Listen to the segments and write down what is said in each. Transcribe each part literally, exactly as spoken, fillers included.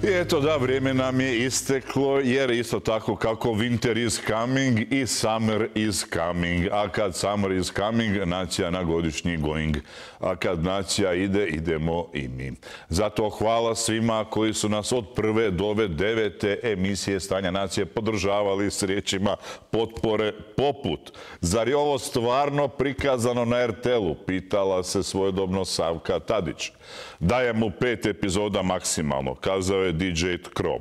I eto da, vrijeme nam je isteklo, jer isto tako kako winter is coming i summer is coming. A kad summer is coming, nacija na godišnji going. A kad nacija ide, idemo i mi. Zato hvala svima koji su nas od prve do ove devete emisije Stanja nacije podržavali s riječima potpore poput. Zar je ovo stvarno prikazano na er te el-u? Pitala se svojedobno Savka Tadić. Daje mu pet epizoda maksimalno, kazao je di džej Kro.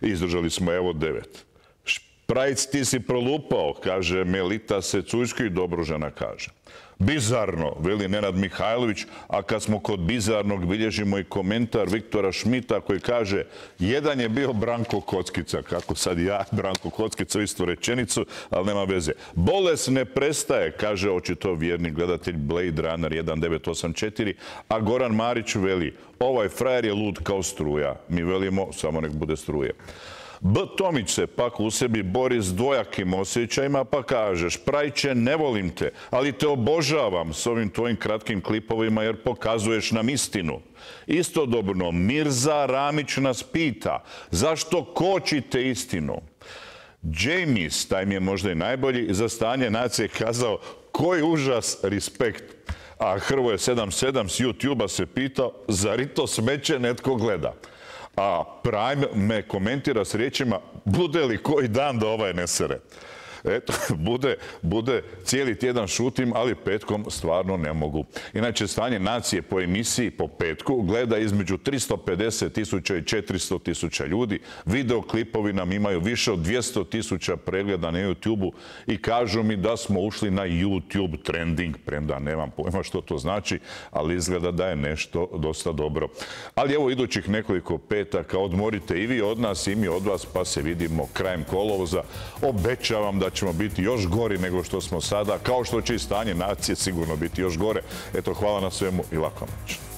Izdržali smo evo devet. Šprajc, ti si prolupao, kaže Melita Secujski, Dobružana kaže. Bizarno, veli Nenad Mihajlović, a kad smo kod bizarnog, bilježimo i komentar Viktora Šmita koji kaže jedan je bio Branko Kockica, kako sad ja, Branko Kockica, istu rečenicu, ali nema veze. Bolest ne prestaje, kaže očito vjerni gledatelj Blade Runner jedan devet osam četiri, a Goran Marić veli, ovaj frajer je lud kao struja. Mi velimo, samo nek bude struje. B. Tomić se pak u sebi bori s dvojakim osjećajima pa kaže: Šprajče, ne volim te, ali te obožavam s ovim tvojim kratkim klipovima jer pokazuješ nam istinu. Istodobno, Mirza Ramić nas pita zašto kočite istinu. James, taj mi je možda i najbolji, za Stanje nacije kazao koji užas, respekt. A Hrvoje sedam sedam s YouTube-a se pitao zar i to smeće netko gleda. A Prime me komentira s riječima bude li koji dan da ovaj ne sere. Eto, bude, bude cijeli tjedan šutim, ali petkom stvarno ne mogu. Inače, Stanje nacije po emisiji po petku gleda između tristo pedeset tisuća i četiristo tisuća ljudi. Videoklipovi nam imaju više od dvjesto tisuća pregleda na YouTube-u i kažu mi da smo ušli na YouTube trending, premda nemam pojma što to znači, ali izgleda da je nešto dosta dobro. Ali evo idućih nekoliko petaka odmorite i vi od nas i mi od vas, pa se vidimo krajem kolovoza. Obećavam da ćemo biti još gori nego što smo sada, kao što će i Stanje nacije sigurno biti još gore. Eto, hvala na svemu i laku noć.